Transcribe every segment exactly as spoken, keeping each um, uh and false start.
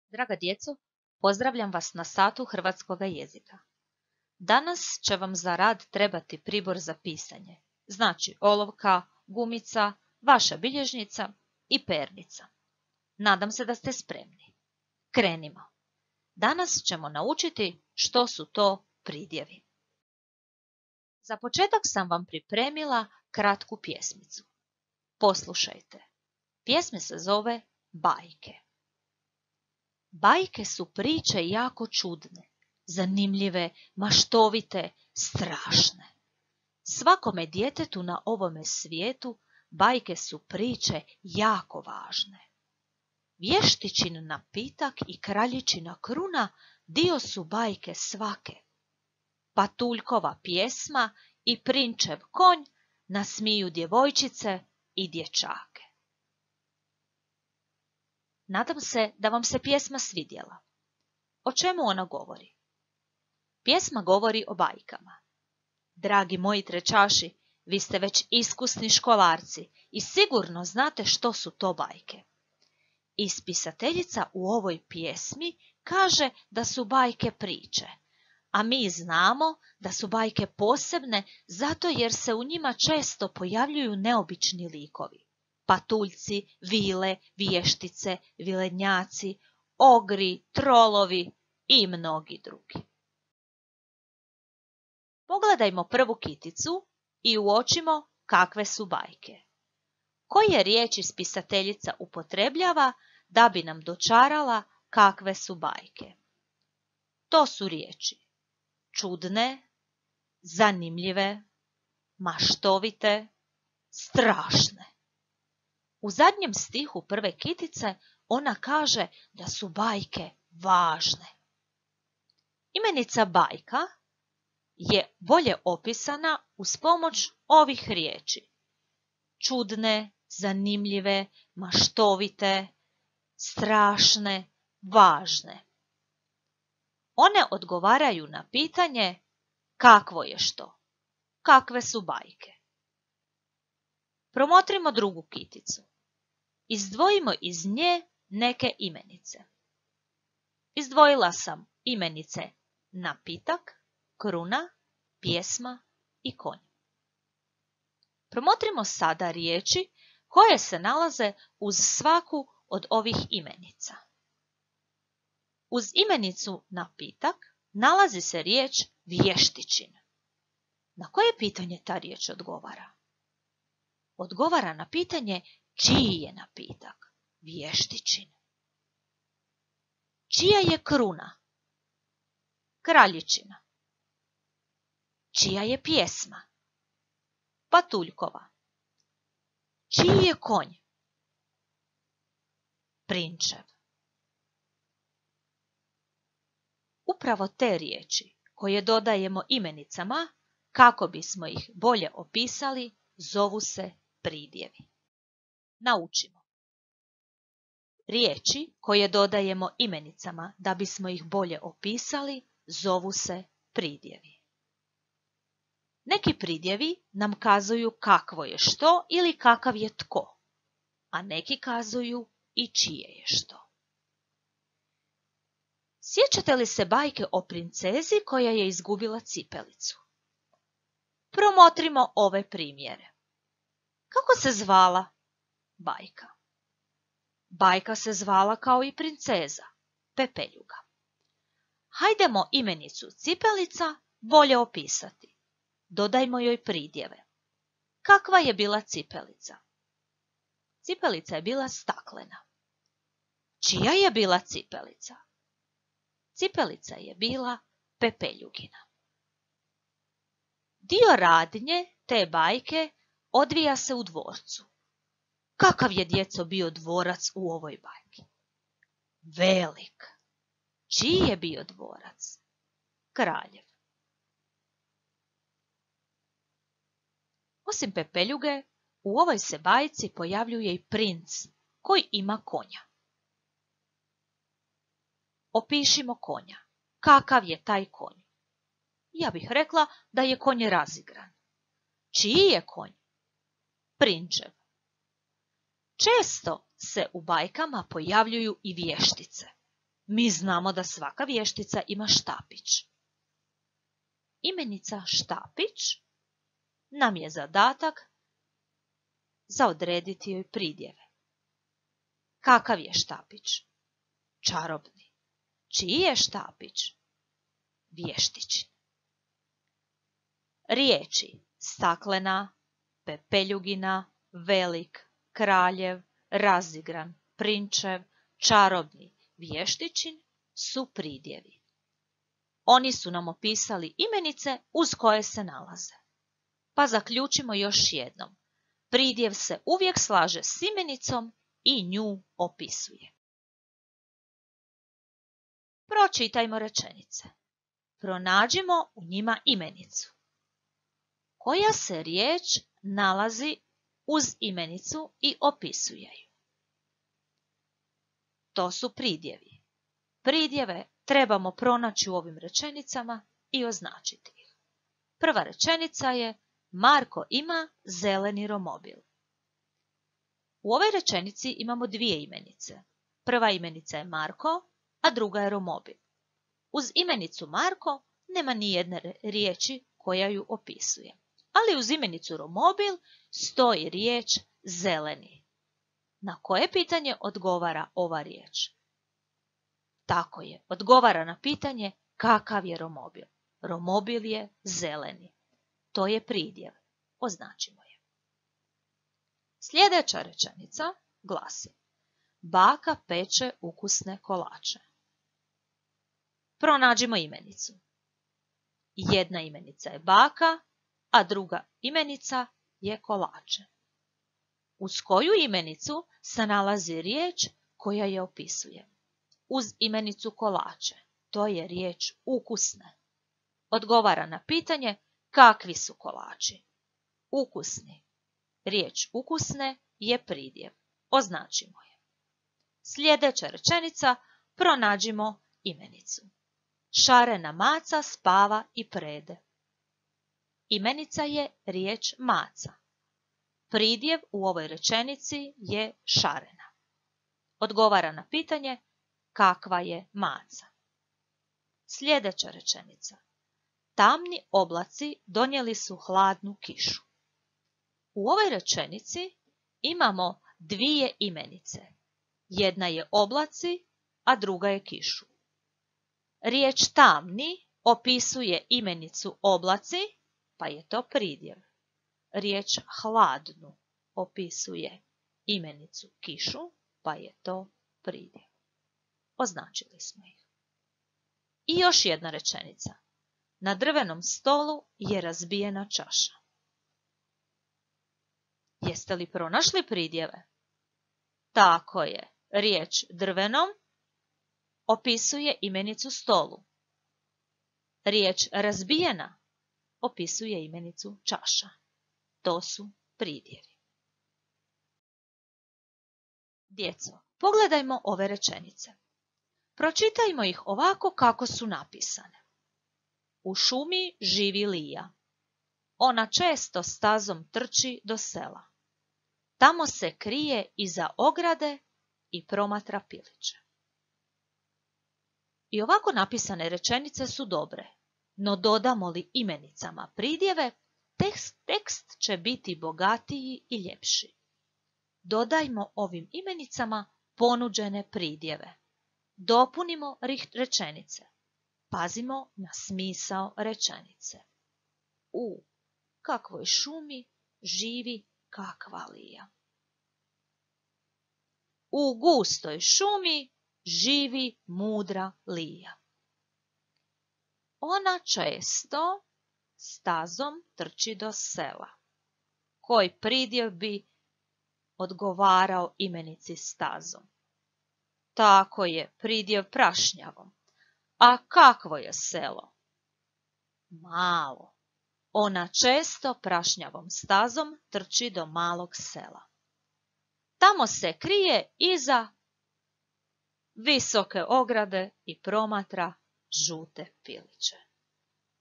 Draga djeco, pozdravljam vas na satu hrvatskoga jezika. Danas će vam za rad trebati pribor za pisanje, znači olovka, gumica, vaša bilježnica i pernica. Nadam se da ste spremni. Krenimo. Danas ćemo naučiti što su to pridjevi. Za početak sam vam pripremila kratku pjesmicu. Poslušajte. Pjesma se zove Bajke. Bajke su priče jako čudne, zanimljive, maštovite, strašne. Svakome djetetu na ovome svijetu bajke su priče jako važne. Vještičin napitak i kraljičina kruna dio su bajke svake. Patuljkova pjesma i prinčev konj nasmiju djevojčice i dječake. Nadam se da vam se pjesma svidjela. O čemu ona govori? Pjesma govori o bajkama. Dragi moji trečaši, vi ste već iskusni školarci i sigurno znate što su to bajke. Ispisateljica u ovoj pjesmi kaže da su bajke priče, a mi znamo da su bajke posebne zato jer se u njima često pojavljuju neobični likovi. Patuljci, vile, vještice, vilednjaci, ogri, trolovi i mnogi drugi. Pogledajmo prvu kiticu i uočimo kakve su bajke. Koje riječi spisateljica upotrebljava da bi nam dočarala kakve su bajke? To su riječi čudne, zanimljive, maštovite, strašne. U zadnjem stihu prve kitice ona kaže da su bajke važne. Imenica bajka je bolje opisana uz pomoć ovih riječi. Čudne, zanimljive, maštovite, strašne, važne. One odgovaraju na pitanje kakvo je što, kakve su bajke. Promotrimo drugu kiticu. Izdvojimo iz nje neke imenice. Izdvojila sam imenice napitak, kruna, pjesma i konj. Promotrimo sada riječi koje se nalaze uz svaku od ovih imenica. Uz imenicu napitak nalazi se riječ vještičin. Na koje pitanje ta riječ odgovara? Odgovara na pitanje čiji je napitak, vještičin. Čija je kruna? Kraljičina. Čija je pjesma? Patuljkova. Čiji je konj? Prinčev. Upravo te riječi koje dodajemo imenicama kako bismo ih bolje opisali zovu se pridjevi. Naučimo. Riječi koje dodajemo imenicama da bismo ih bolje opisali zovu se pridjevi. Neki pridjevi nam kazuju kakvo je što ili kakav je tko, a neki kazuju i čije je što. Sjećate li se bajke o princezi koja je izgubila cipelicu? Promotrimo ove primjere. Kako se zvala bajka? Bajka se zvala kao i princeza, Pepeljuga. Hajdemo imenicu cipelica bolje opisati. Dodajmo joj pridjeve. Kakva je bila cipelica? Cipelica je bila staklena. Čija je bila cipelica? Cipelica je bila Pepeljugina. Dio radnje te bajke odvija se u dvorcu. Kakav je, djeco, bio dvorac u ovoj bajki? Velik. Čiji je bio dvorac? Kraljev. Osim Pepeljuge, u ovoj se bajci pojavljuje i princ koji ima konja. Opišimo konja. Kakav je taj konj? Ja bih rekla da je konj razigran. Čiji je konj? Prinčev. Često se u bajkama pojavljuju i vještice. Mi znamo da svaka vještica ima štapić. Imenica štapić nam je zadatak za odrediti joj pridjeve. Kakav je štapić? Čarobni. Čiji je štapić? Vještičin. Riječi staklena, pepeljugina, velik, kraljev, razigran, prinčev, čarobni, vještičin su pridjevi. Oni su nam opisali imenice uz koje se nalaze. Pa zaključimo još jednom. Pridjev se uvijek slaže s imenicom i nju opisuje. Pročitajmo rečenice. Pronađimo u njima imenicu. Koja se riječ nalazi uz imenicu i opisuje ju? To su pridjevi. Pridjeve trebamo pronaći u ovim rečenicama i označiti ih. Prva rečenica je Marko ima zeleni romobil. U ovoj rečenici imamo dvije imenice. Prva imenica je Marko, a druga je romobil. Uz imenicu Marko nema ni jedne riječi koja ju opisuje. Ali uz imenicu romobil stoji riječ zeleni. Na koje pitanje odgovara ova riječ? Tako je, odgovara na pitanje kakav je romobil. Romobil je zeleni. To je pridjev. Označimo je. Sljedeća rečenica glasi: Baka peče ukusne kolače. Pronađimo imenicu. Jedna imenica je baka, a druga imenica je kolače. Uz koju imenicu se nalazi riječ koja je opisuje? Uz imenicu kolače. To je riječ ukusne. Odgovara na pitanje kakvi su kolači. Ukusni. Riječ ukusne je pridjev. Označimo je. Sljedeća rečenica pronađimo imenicu. Šarena maca spava i prede. Imenica je riječ maca. Pridjev u ovoj rečenici je šarena. Odgovara na pitanje kakva je maca. Sljedeća rečenica. Tamni oblaci donijeli su hladnu kišu. U ovoj rečenici imamo dvije imenice. Jedna je oblaci, a druga je kišu. Riječ tamni opisuje imenicu oblaci, pa je to pridjev. Riječ hladnu opisuje imenicu kišu, pa je to pridjev. Označili smo ih. I još jedna rečenica. Na drvenom stolu je razbijena čaša. Jeste li pronašli pridjeve? Tako je. Riječ drvenom opisuje imenicu stolu. Riječ razbijena opisuje imenicu čaša. To su pridjevi. Djeco, pogledajmo ove rečenice. Pročitajmo ih ovako kako su napisane. U šumi živi Lija. Ona često stazom trči do sela. Tamo se krije iza ograde i promatra piliće. I ovako napisane rečenice su dobre, no dodamo li imenicama pridjeve, tekst, tekst će biti bogatiji i ljepši. Dodajmo ovim imenicama ponuđene pridjeve. Dopunimo rečenice. Pazimo na smisao rečenice. U kakvoj šumi živi kakva Lija. U gustoj šumi živi mudra Lija. Ona često stazom trči do sela. Koji pridjev bi odgovarao imenici stazom? Tako je, pridjev prašnjavom. A kakvo je selo? Malo. Ona često prašnjavom stazom trči do malog sela. Tamo se krije iza visoke ograde i promatra žute piliće.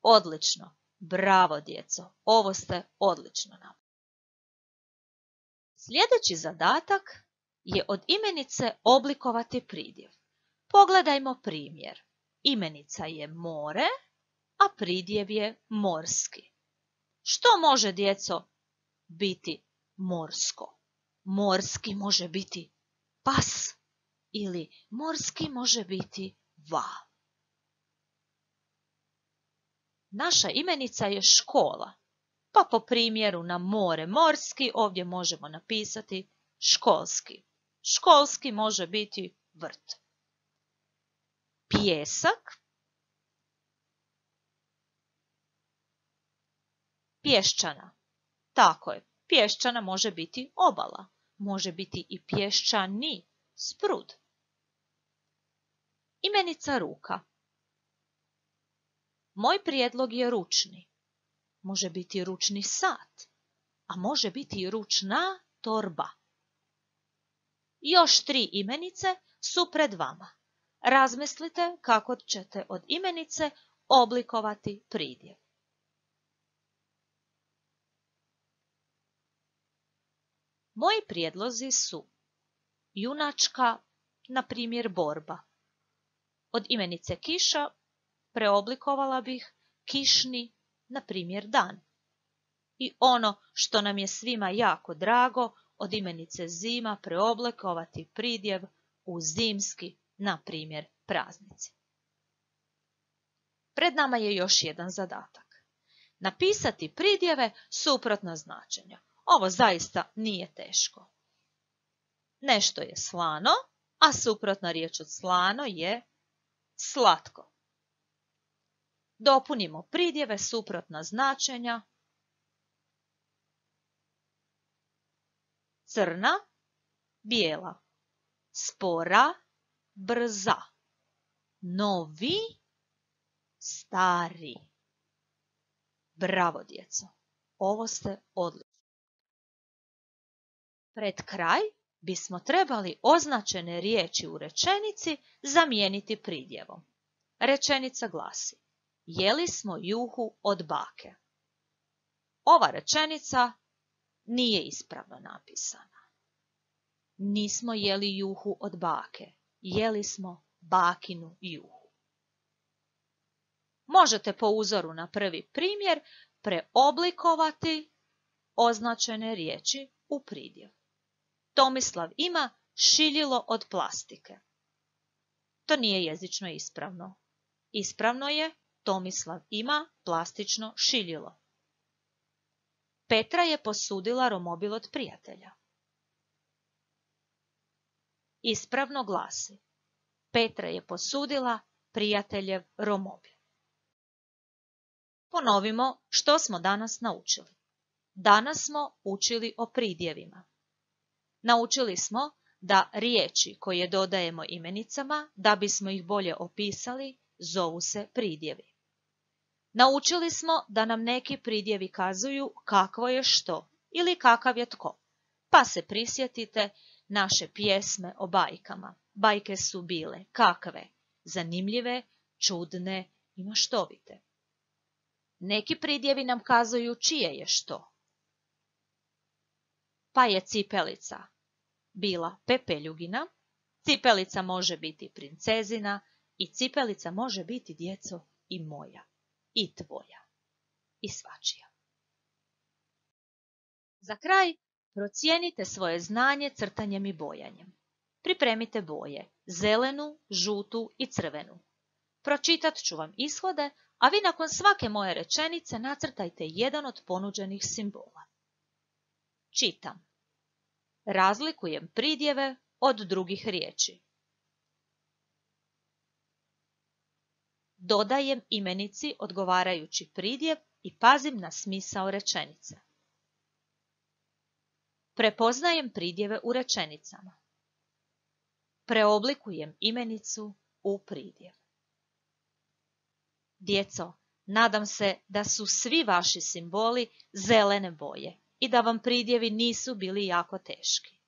Odlično. Bravo, djeco. Ovo ste odlično napravili. Sljedeći zadatak je od imenice oblikovati pridjev. Pogledajmo primjer. Imenica je more, a pridjev je morski. Što može, djeco, biti morsko? Morski može biti pas ili morski može biti val. Naša imenica je škola, pa po primjeru na more morski ovdje možemo napisati školski. Školski može biti vrt. Pijesak, pješčana. Tako je, pješčana može biti obala, može biti i pješčani, sprud. Imenica ruka. Moj prijedlog je ručni. Može biti ručni sat, a može biti i ručna torba. Još tri imenice su pred vama. Razmislite kako ćete od imenice oblikovati pridjev. Moji prijedlozi su junačka, na primjer borba. Od imenice kiša preoblikovala bih kišni, na primjer dan. I ono što nam je svima jako drago, od imenice zima preoblikovati pridjev u zimski, na primjer praznici. Pred nama je još jedan zadatak. Napisati pridjeve suprotna značenja. Ovo zaista nije teško. Nešto je slano, a suprotna riječ od slano je slatko. Dopunimo pridjeve suprotna značenja. Crna, bijela. Spora, brza. Novi, stari. Bravo, djeco. Ovo ste odlični. Pred kraj bismo trebali označene riječi u rečenici zamijeniti pridjevom. Rečenica glasi: jeli smo juhu od bake. Ova rečenica nije ispravno napisana. Nismo jeli juhu od bake, jeli smo bakinu juhu. Možete po uzoru na prvi primjer preoblikovati označene riječi u pridjev. Tomislav ima šiljilo od plastike. To nije jezično ispravno. Ispravno je Tomislav ima plastično šiljilo. Petra je posudila romobil od prijatelja. Ispravno glasi: Petra je posudila prijateljev romobil. Ponovimo što smo danas naučili. Danas smo učili o pridjevima. Naučili smo da riječi koje dodajemo imenicama, da bismo ih bolje opisali, zovu se pridjevi. Naučili smo da nam neki pridjevi kazuju kakvo je što ili kakav je tko. Pa se prisjetite naše pjesme o bajkama. Bajke su bile kakve? Zanimljive, čudne i maštovite. Neki pridjevi nam kazuju čije je što. Pa je cipelica bila Pepeljugina, cipelica može biti princezina i cipelica može biti, djeco, i moja, i tvoja, i svačija. Za kraj procijenite svoje znanje crtanjem i bojanjem. Pripremite boje, zelenu, žutu i crvenu. Pročitat ću vam ishode, a vi nakon svake moje rečenice nacrtajte jedan od ponuđenih simbola. Čitam. Razlikujem pridjeve od drugih riječi. Dodajem imenici odgovarajući pridjev i pazim na smisao rečenice. Prepoznajem pridjeve u rečenicama. Preoblikujem imenicu u pridjev. Djeco, nadam se da su svi vaši simboli zelene boje i da vam pridjevi nisu bili jako teški.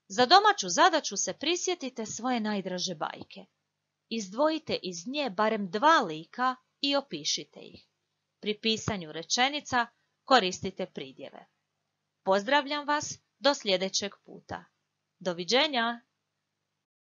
Za domaću zadaću se prisjetite svoje najdraže bajke. Izdvojite iz nje barem dva lika i opišite ih. Pri pisanju rečenica koristite pridjeve. Pozdravljam vas do sljedećeg puta. Doviđenja!